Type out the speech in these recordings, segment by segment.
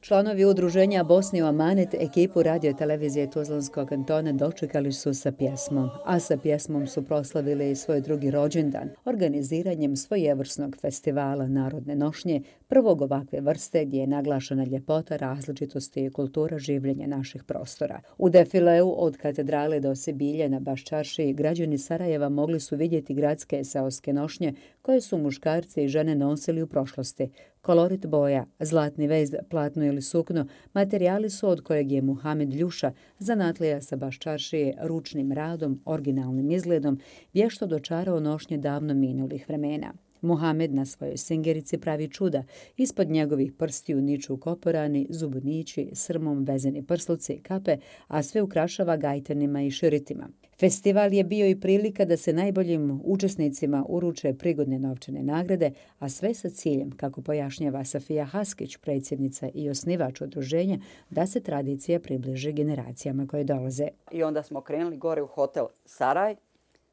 Članovi udruženja Bosni u Amanet ekipu radio-televizije Tuzlanskog kantona dočekali su sa pjesmom, a sa pjesmom su proslavili i svoj drugi rođendan, organiziranjem svojevrsnog festivala Narodne nošnje, prvog ovakve vrste gdje je naglašena ljepota, različitosti i kultura življenja naših prostora. U defileu od katedrale do Sibilje na Baščaršiji građani Sarajeva mogli su vidjeti gradske seoske nošnje koje su muškarci i žene nosili u prošlosti. Kolorit boja, zlatni vez, platno ili sukno, materijali su od kojeg je Muhamed Ljuša, zanatlija sa Baščaršije, ručnim radom, originalnim izgledom, vješto dočarao nošnje davno minulih vremena. Muhamed na svojoj singerici pravi čuda, ispod njegovih prstiju niču koporani, zubunići, srmom vezeni prsluci i kape, a sve ukrašava gajtanima i širitima. Festival je bio i prilika da se najboljim učesnicima uruče prigodne novčane nagrade, a sve sa ciljem, kako pojašnjava Safija Haskić, predsjednica i osnivač udruženja, da se tradicija približi generacijama koje dolaze. I onda smo krenuli gore u hotel Saraj,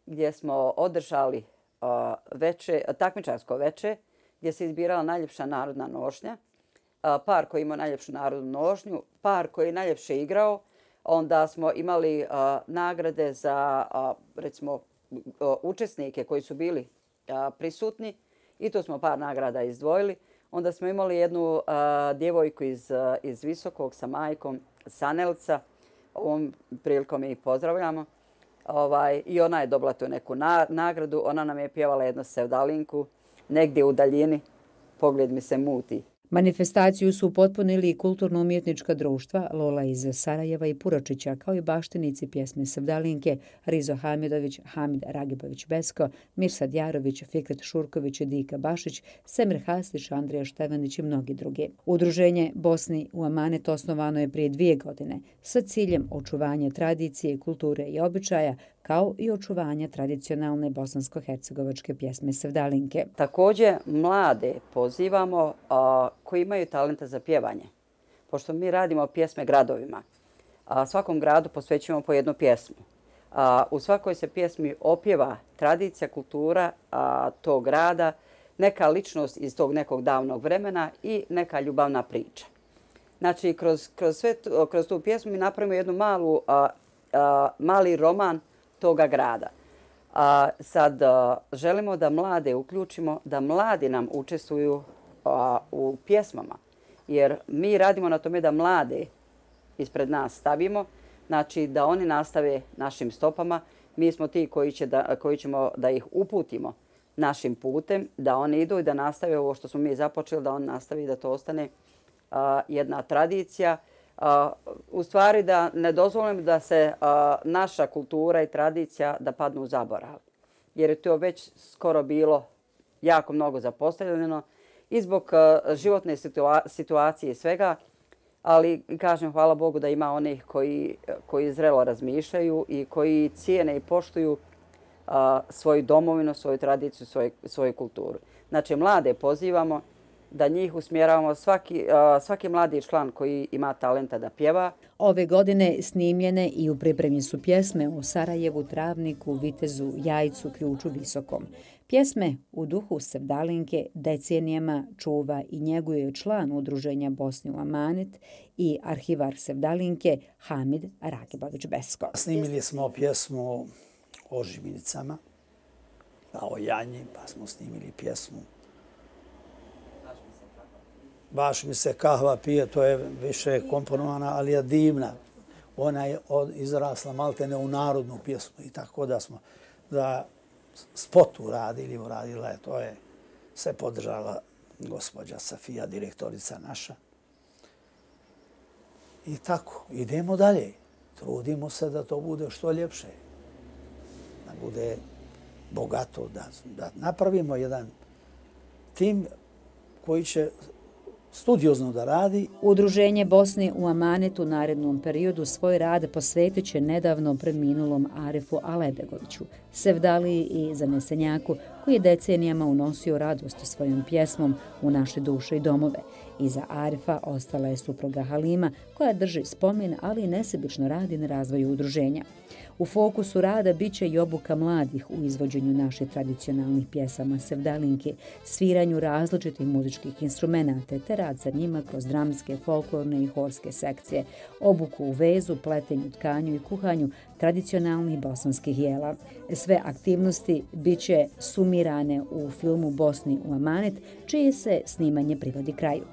gdje smo održali takmičarsko veče, gdje se izbirala najljepša narodna nošnja, par koji ima najljepšu narodnu nošnju, par koji je najljepše igrao. Onda smo imali nagrade za, recimo, učesnike koji su bili prisutni i tu smo par nagrada izdvojili. Onda smo imali jednu djevojku iz Visokog sa majkom Sanelca. Ovom prilikom je i pozdravljamo. I ona je dobila tu neku nagradu. Ona nam je pjevala jednu sevdalinku negdje u daljini. Pogled mi se muti. Manifestaciju su upotpunili i kulturno-umjetnička društva Lola iz Sarajeva i Puročića, kao i baštinici pjesme Sevdalinke Rizo Hamidović, Hamid Ragibović Besko, Mirsad Jarović, Fikret Šurković, Dika Bašić, Semir Hastić, Andrija Števanić i mnogi drugi. Udruženje Bosni u Amanet osnovano je prije 2 godine sa ciljem očuvanja tradicije, kulture i običaja, kao i očuvanja tradicionalne bosansko-hercegovačke pjesme Sevdalinke. Također mlade pozivamo koji imaju talenta za pjevanje. Pošto mi radimo pjesme gradovima, svakom gradu posvećujemo po jednu pjesmu. U svakoj se pjesmi opjeva tradicija, kultura tog grada, neka ličnost iz tog nekog davnog vremena i neka ljubavna priča. Znači, kroz tu pjesmu mi napravimo jednu mali roman toga grada. Sad želimo da mlade uključimo, da mladi nam učestvuju u pjesmama. Jer mi radimo na tome da mlade ispred nas stavimo, znači da oni nastave našim stopama. Mi smo ti koji ćemo da ih uputimo našim putem, da oni idu i da nastave ovo što smo mi započeli, da on nastavi da to ostane jedna tradicija. U stvari da ne dozvolimo da se naša kultura i tradicija da padnu u zaborav. Jer je to već skoro bilo jako mnogo zapostavljeno i zbog životne situacije i svega. Ali kažem hvala Bogu da ima onih koji zrelo razmišljaju i koji cijene i poštuju svoju domovinu, svoju tradiciju, svoju kulturu. Znači mlade pozivamo da njih usmjeravamo, svaki mladi član koji ima talenta da pjeva. Ove godine snimljene i u pripremi su pjesme u Sarajevu, Travniku, Vitezu, Jajcu, Ključu, Visokom. Pjesme u duhu Sevdalinke decenijama čuva i njeguje član udruženja Bosni u Amanet i arhivar Sevdalinke Hamid Ragibović Besko. Snimili smo pjesmu o žiminicama, o Janji, pa smo snimili pjesmu baš mi se kahva pije, to je više komponovana, ali je divna. Ona je izrasla maltene u narodnu pjesmu i tako da smo da spot uradila je, to je sve podržala gospođa Safija, direktorica naša. I tako, idemo dalje. Trudimo se da to bude što ljepše. Da bude bogato, da napravimo jedan tim koji će studiozno da radi. Udruženje Bosne u amanet u narednom periodu svoj rad posvetit će nedavno preminulom Arifu Alebegoviću, sevdaliji i zanesenjaku koji je decenijama unosio radost svojom pjesmom u naše duše i domove. Iza Arifa ostala je supruga Halima koja drži spomen, ali i nesebično radi na razvoju udruženja. U fokusu rada bit će i obuka mladih u izvođenju naših tradicionalnih pjesama sevdalinke, sviranju različitih muzičkih instrumenata te rad sa njima kroz dramske, folklorne i horske sekcije, obuku u vezu, pletenju, tkanju i kuhanju tradicionalnih bosanskih jela. Sve aktivnosti bit će sumirane u filmu Bosni u amanet, čije se snimanje privodi kraju.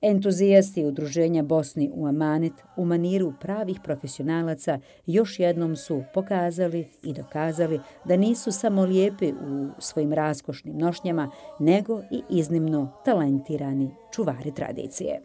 Entuzijasti udruženja Bosni u amanet u maniru pravih profesionalaca još jednom su pokazali i dokazali da nisu samo lijepi u svojim raskošnim nošnjama, nego i iznimno talentirani čuvari tradicije.